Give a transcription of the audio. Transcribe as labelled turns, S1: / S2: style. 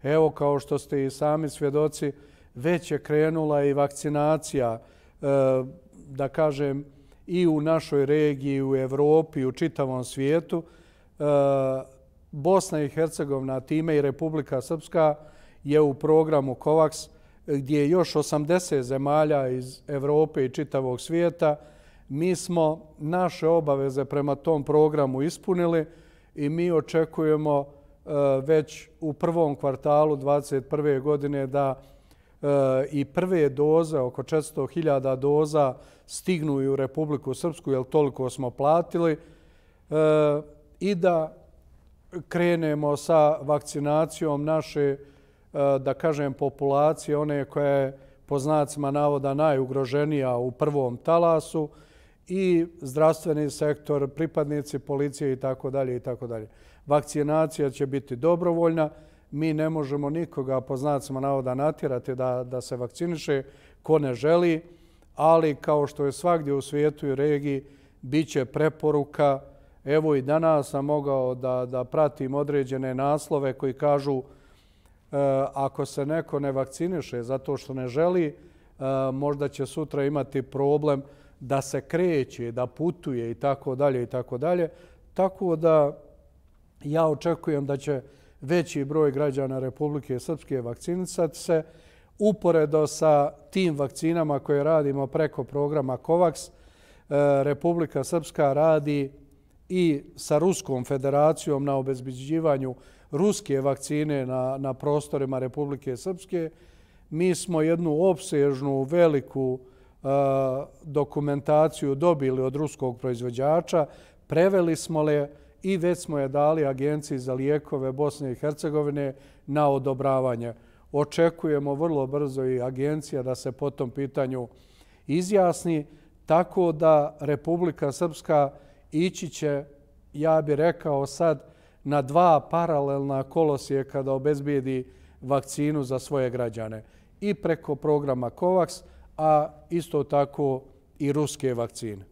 S1: Evo, kao što ste i sami svjedoci, već je krenula i vakcinacija, da kažem, i u našoj regiji, u Evropi, i u čitavom svijetu. Bosna i Hercegovina, time i Republika Srpska, je u programu COVAX, gdje je još 80 zemalja iz Evrope i čitavog svijeta. Mi smo naše obaveze prema tom programu ispunili i mi očekujemo već u prvom kvartalu 2021. godine da i prve doze, oko 400.000 doza, stignu i u Republiku Srpsku, jer toliko smo platili, i da krenemo sa vakcinacijom naše, da kažem, populacije, one koja je po znacima navoda najugroženija u prvom talasu, i zdravstveni sektor, pripadnici policije itd. itd. Vakcinacija će biti dobrovoljna. Mi ne možemo nikoga po znacima navoda natjerati da se vakciniše ko ne želi, ali kao što je svagdje u svijetu i regiji, bit će preporuka. Evo i danas sam mogao da pratim određene naslove koji kažu ako se neko ne vakciniše zato što ne želi, možda će sutra imati problem da se kreće, da putuje i tako dalje i tako dalje. Tako da ja očekujem da će veći broj građana Republike Srpske vakcinisati se. Uporedo sa tim vakcinama koje radimo preko programa COVAX, Republika Srpska radi i sa Ruskom federacijom na obezbeđivanju ruske vakcine na prostorima Republike Srpske. Mi smo jednu opsežnu, veliku dokumentaciju dobili od ruskog proizvođača, preveli smo je i već smo je dali Agenciji za lijekove Bosne i Hercegovine na odobravanje. Očekujemo vrlo brzo i agencija da se po tom pitanju izjasni, tako da Republika Srpska ići će, ja bih rekao sad, na dva paralelna kolosijeka da obezbijedi vakcinu za svoje građane. I preko programa COVAX, a isto tako i ruske vakcine.